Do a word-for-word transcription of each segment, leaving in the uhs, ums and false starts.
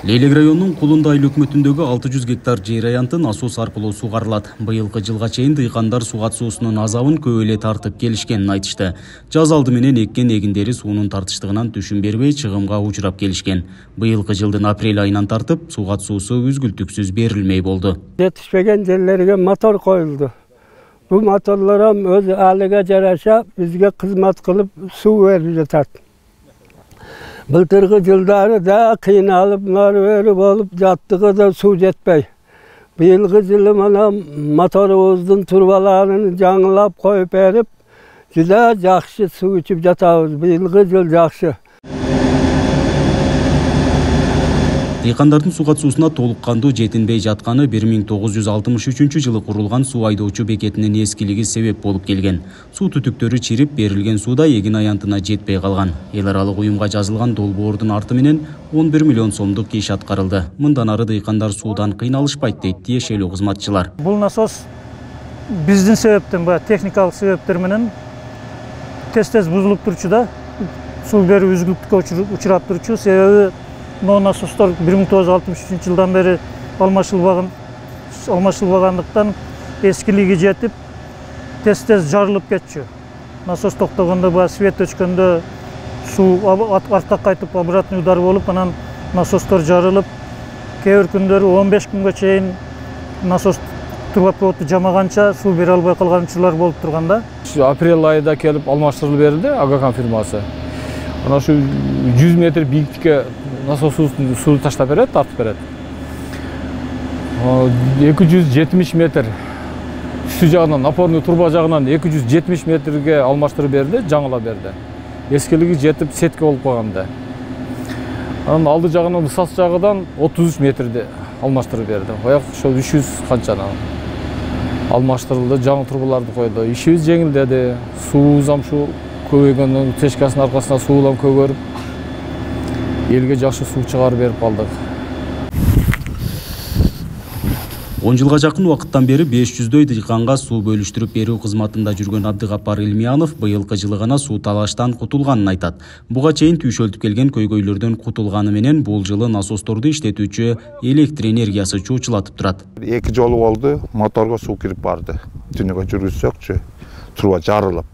Лейлек районунун Кулунда айыл өкмөтүндөгү алты жүз гектар жер аянты насос аркылуу сугарылат. Быйылкы жылга чейин дыйкандар суу катышуусунун азабын көп эле тартып келишкенин айтышты. Жаз алды менен эккен эгиндери суунун тартыштыгынан түшүм бербей чыгымга учурап келишкен. Быйылкы жылдын апрель айынан тартып суу катышуусу үзгүлтүксүз берилмей болду. Жетишпеген жерлерге мотор коюлду. Бул моторлор өз алыга жараша бизге кызмат кылып суу берип жатат. Былтырғы жылдары да кыйналып, нары болуп жаттыгы да суу жетпей. Быйылгы жылы мана моторубуздун турбаларын жаңылап коюп берип, juda жакшы суу ичип жатабыз. Быйылгы жыл жакшы. Дыйкандардын суу катышуусуна толук кандуу жетинбей жатканы бир миң тогуз жүз алтымыш үчүнчү жылы курулган суу айдоочу бекетинин эскилиги себеп болуп келген. Суу түтүктөрү чирип, берилген сууда эгин аянтына жетпей калган. Эл аралык уюмга жазылган долбоордун арты менен он бир миллион сомдук иш аткарылды. Мындан ары дыйкандар суудан кыйналышпайт дейт тиешелүү кызматчылар. Бул насос биздин себептен баягы техникалык себептер менен тез-тез бузулуп турчу да, суу берүү үзгүлтүккө учурап турчу. Себеби но насостор бир миң тогуз жүз алтымыш үчүнчү жылдан бери алмашылбаган алмашылбагандыктан эскилиги жетип тез-тез жарылып кетчү. Насос токтогондо баягы свет өчкөндө суу артка кайтып обратный удар болуп, анан насостор жарылып, кээ бир күндөрү он беш күнгө чейин насос трубопроводду жамаганча суу бере албай калган учурлар болуп турган да. Апрель айында келип алмаштырылып берилди Агакан фирмасы. Ana şu жүз метр бийликтикке насос сууну таштап берет, тартып берет. эки жүз жетимиш метр үстү жагынан, напорный труба жагынан эки жүз жетимиш метрге алмаштырып берди, жаңыла берди. Эскилиги жетип сетке болуп калганда. Анан алды жагынан ысас жагынан отуз үч метрди алмаштырып берди. Ояк ошо үч жүз канчаны алмаштырылды, жаңы трубаларды койду. Ишибиз жеңилдеди, суубуз ам ушу көбөйгөндөн тешкасынын аркасында суулам көгөрүп, элге жакшы суу чыгарып берип калдык. он жылга жакын убакыттан бери беш жүздөй дыйканга суу бөлүштүрүп берүү кызматында жүргөн Абдыгапар Илмиянов быйылкы жылы гана суу талаштан кутулганын айтат. Буга чейин түйшөлтүп келген көйгөйлөрдөн кутулганы менен бул жылы насосторду иштетүүчү электр энергиясы чуучулатып турат. эки жолу болду, моторго суу кирип барды. Түнүгө жүргүзсөкчү, труба жарылып,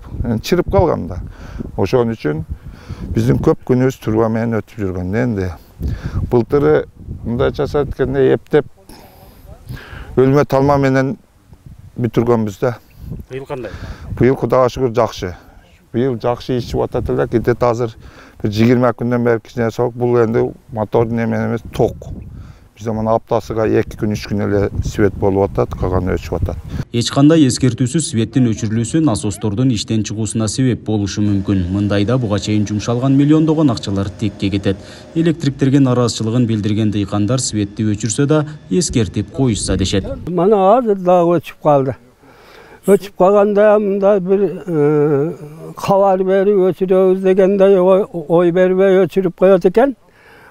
чирип калган да. Ошон үчүн биздин көп күнүбүз труба менен өтүп жүргөн. Энди былтыры мындай жасап эткенде эптеп өлмө талма менен бүтүргөнбүз да. Быйыл кандай? Быйыл Кудайга шүгүр жакшы. Быйыл жакшы ичип атат эле, кетет азыр бир жыйырма күндөн бери кичине соок. Бул энди мотордун эмен эмес, ток. Бизде мына аптасыга эки күн, үч күн эле свет болуп атат, калганы өчүп атат. Эч кандай эскертүүсүз светтин өчүрүлүүсү насостордун иштен чыгуусуна себеп болушу мүмкүн. Мындайда буга чейин жумшалган миллиондогон акчалар текке кетет. Электриктерге нараазычылыгын билдирген дыйкандар светти өчүрсө да эскертип коюшса дешет. Мана азыр дагы өчүп калды. Өчүп калганда мындай бир кабар берип өчүрөбүз дегендей ой бербей өчүрүп коет экен.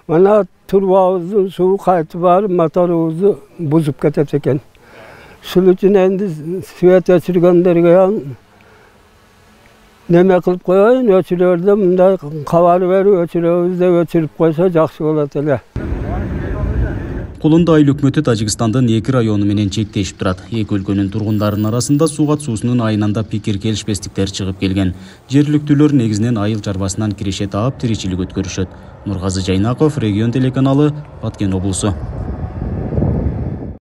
Мана турбабыздын суу кайтып барып моторубузду бузуп кетет экен. Шул үчүн энди свет өчүргөндөргө неме кылып коеюн, өчүрөрдө мындай кабар берип өчүрөбүз деп өчүрүп койсо жакшы болот эле. Кулунда айыл өкмөтү Тажикстандын эки району менен чектешип турат. Эки өлкөнүн тургундарынын арасында суу катышуусунун айынан пикир келишпестиктер чыгып келген. Жергиликтүүлөр негизинен айыл чарбасынан киреше таап тиричилик өткөрүшөт. Нургазы Жайнаков, Регион телеканалы, Баткен облусу.